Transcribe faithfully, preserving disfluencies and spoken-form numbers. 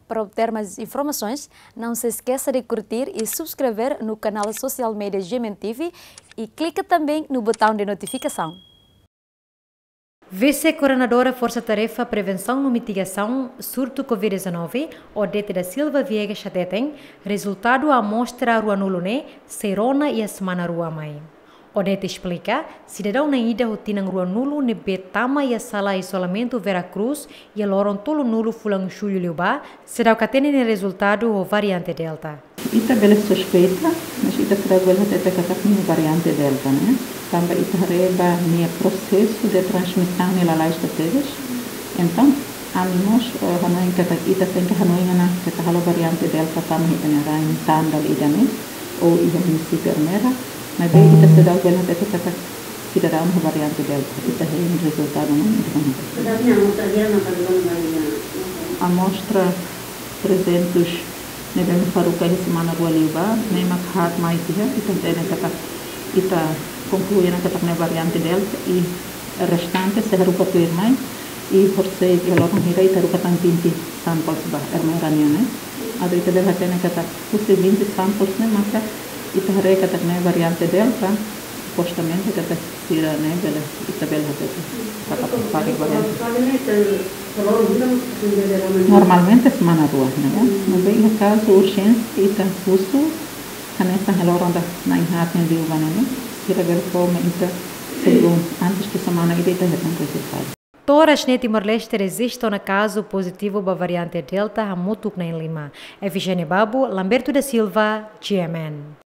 Para obter mais informações, não se esqueça de curtir e subscrever no canal social media G M N T V e clica também no botão de notificação. Vise-Koordenadora Forsa Tarefa Prevensaun no Mitigasaun Surtu Covid dezanove, Odete da Silva Viegas hateten, rezultadu amostra ruanulu ne'e sei rona iha semana rua mai. Odete esplika, sidadaun na'in ida ho tinan ruanulu ne'ebé tama iha sala izolamentu Vera Cruz iha loron tolunulu fulan Jullu liubá, seidauk hatene nia rezultadu ho variante Delta. Ita bele suspeita, mas ita seidauk bele hatete katak nia variante Delta, ne'e. Tanba ita haree ba nia prosesu de transmisaun ne'e lalais tebes. Entaun, ami mós, eh, hanoin katak ita tenke hanoin ona katak halo variante Delta tama iha ita-nia rain tan dala ida ne'e, ou iha munisípiu Ermera, maibé ita seidauk bele hatete katak sidadaun ho variante Delta. Ita hein rezultadu ne'e, ita hein. Amostra trezentus ne'ebé mak haruka iha semana rua liubá, ne'e mak haat mai tiha, ita hatene katak, ita konklui ona katak ne'e variante Delta, i restante sei haruka tuirmai, i horisehik iha loron hira ita haruka tan vinte samples ba Ermera nian ne'e. Atu ita bele hatene katak husi vinte samples ne'e maka ita haree katak ne'e variante Delta, supostamente katak sira ne'e bele, ita bele hatete katak pari variante. Normalmente semana rua, ne'e. Maibé iha kazu urjénsia ita husu, hanesan iha loron ida na'in haat ne'e liubá ne'e, sira bele fó mai ita, sebelum, antes de semana ida ita hetan rezultadu. To'o oras ne'e Timor-Leste rejista ona kazu pozitivu ba variante Delta hamutuk na'in lima. Efigénia Babu, Lamberto da Silva, G M N.